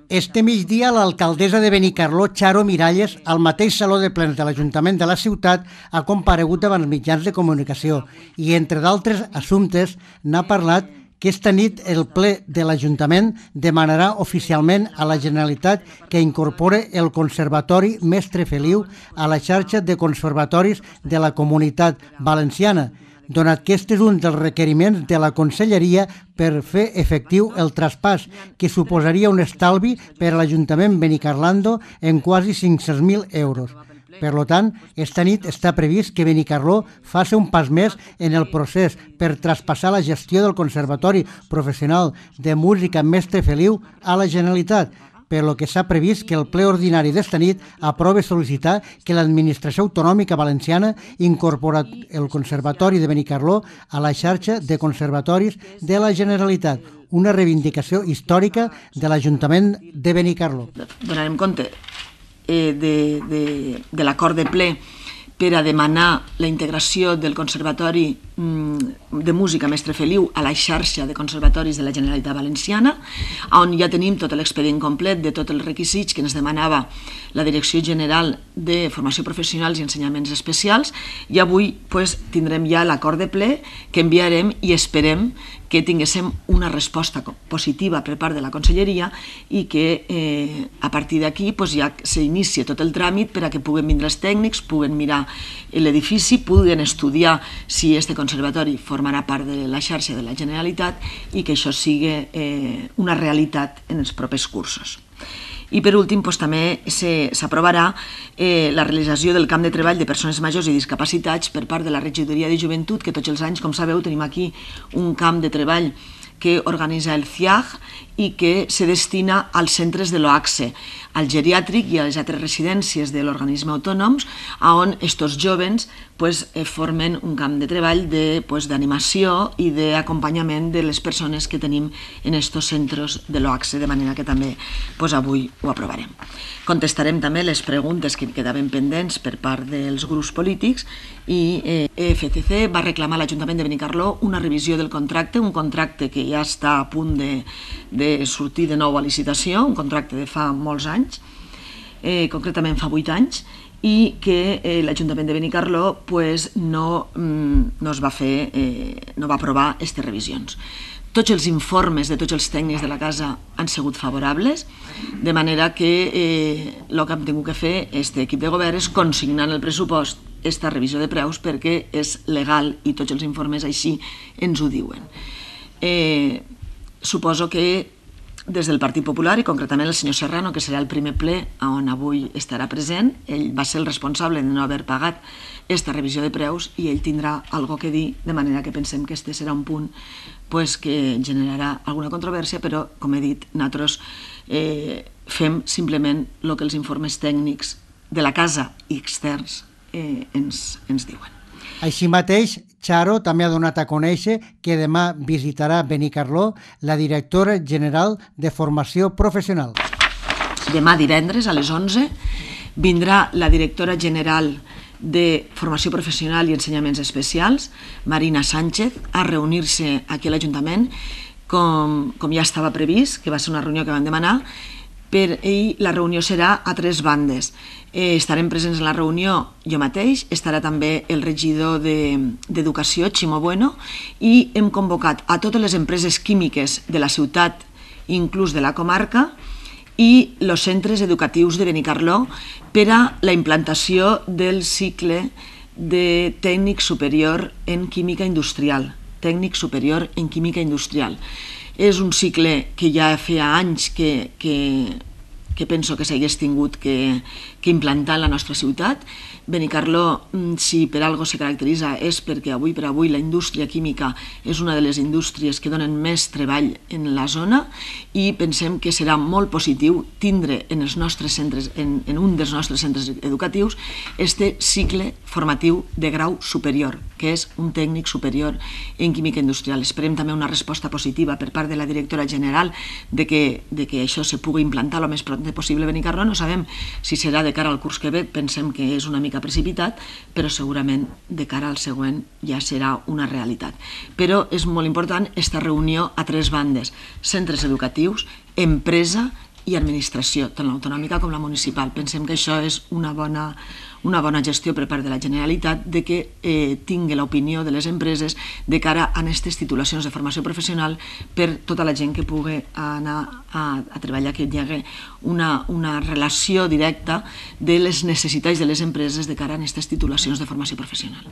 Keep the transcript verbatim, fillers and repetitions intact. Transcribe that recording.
Este migdia, l'alcaldessa de Benicarló, Charo Miralles, al mateix saló de plens de l'Ajuntament de la ciutat, ha comparegut davant els mitjans de comunicació i, entre d'altres assumptes, n'ha parlat que esta nit el ple de l'Ajuntament demanarà oficialment a la Generalitat que incorpore el Conservatori Mestre Feliu a la xarxa de conservatoris de la Comunitat Valenciana, donat que aquest és un dels requeriments de la Conselleria per fer efectiu el traspàs, que suposaria un estalvi per a l'Ajuntament Benicarlando en quasi cinc-cents mil euros. Per tant, esta nit està previst que Benicarló faci un pas més en el procés per traspassar la gestió del Conservatori Professional de Música Mestre Feliu a la Generalitat, per lo que s'ha previst que el ple ordinari d'esta nit aprove sol·licitar que l'Administració Autonòmica Valenciana incorpora el Conservatori de Benicarló a la xarxa de conservatoris de la Generalitat, una reivindicació històrica de l'Ajuntament de Benicarló. Donarem compte eh, de, de, de l'acord de ple per a demanar la integració del Conservatori de Música Mestre Feliu a la xarxa de conservatoris de la Generalitat Valenciana, on ja tenim tot l'expedient complet de tots els requisits que ens demanava la Direcció General de Formació Professional i Ensenyaments Especials, i avui tindrem ja l'acord de ple que enviarem i esperem que tinguéssim una resposta positiva per part de la Conselleria i que a partir d'aquí ja s'inicia tot el tràmit per a que puguen vindre els tècnics, puguen mirar l'edifici, puguen estudiar si este conservatori formarà part de la xarxa de la Generalitat i que això sigui una realitat en els propers cursos. I per últim també s'aprovarà la realització del camp de treball de persones majors i discapacitats per part de la Regidoria de Joventut, que tots els anys, com sabeu, tenim aquí un camp de treball que organitza el C I A G i que se destina als centres de l'O A C S E, al geriàtric i a les altres residències de l'organisme autònoms, on aquests jóvens formen un camp de treball d'animació i d'acompanyament de les persones que tenim en aquests centres de l'O A C S E, de manera que també avui ho aprovarem. Contestarem també les preguntes que quedaven pendents per part dels grups polítics i E F C C va reclamar a l'Ajuntament de Benicarló una revisió del contracte, un contracte que ja està a punt de sortir de nou a licitació, un contracte de fa molts anys, concretament fa vuit anys, i que l'Ajuntament de Benicarló no va aprovar aquestes revisions. Tots els informes de tots els tècnics de la casa han sigut favorables, de manera que el que hem tingut que fer aquest equip de govern és consignar en el pressupost aquesta revisió de preus perquè és legal i tots els informes així ens ho diuen. Suposo que des del Partit Popular, i concretament el senyor Serrano, que serà el primer ple on avui estarà present, ell va ser el responsable de no haver pagat aquesta revisió de preus i ell tindrà alguna cosa a dir, de manera que pensem que aquest serà un punt que generarà alguna controvèrsia, però, com he dit, nosaltres fem simplement el que els informes tècnics de la casa i externs ens diuen. Així mateix, Charo també ha donat a conèixer que demà visitarà Benicarló la directora general de Formació Professional. Demà divendres a les onze vindrà la directora general de Formació Professional i Ensenyaments Especials, Marina Sánchez, a reunir-se aquí a l'Ajuntament, com ja estava previst, que va ser una reunió que van demanar, i la reunió serà a tres bandes. Estarem presents en la reunió jo mateix, estarà també el regidor d'Educació, Ximo Bueno, i hem convocat a totes les empreses químiques de la ciutat, inclús de la comarca, i els centres educatius de Benicarló per a la implantació del cicle de tècnic superior en química industrial. Tècnic superior en química industrial. És un cicle que ja feia anys que penso que s'hagués tingut que implantar en la nostra ciutat. Benicarló, si per alguna cosa se caracteritza, és perquè avui per avui la indústria química és una de les indústries que donen més treball en la zona i pensem que serà molt positiu tindre en un dels nostres centres educatius este cicle formatiu de grau superior, que és un tècnic superior en química industrial. Esperem també una resposta positiva per part de la directora general de que això se pugui implantar el més pront possible a Benicarló. No sabem si serà de cara al curs que ve, pensem que és una mica precipitat, però segurament de cara al següent ja serà una realitat. Però és molt important aquesta reunió a tres bandes: centres educatius, empresa i administració, tant l'autonòmica com la municipal. Pensem que això és una bona, una bona gestió per part de la Generalitat, de que eh, tingui l'opinió de les empreses de cara a aquestes titulacions de formació professional per tota la gent que pugui anar a, a treballar, que hi hagi una, una relació directa de les necessitats de les empreses de cara a aquestes titulacions de formació professional.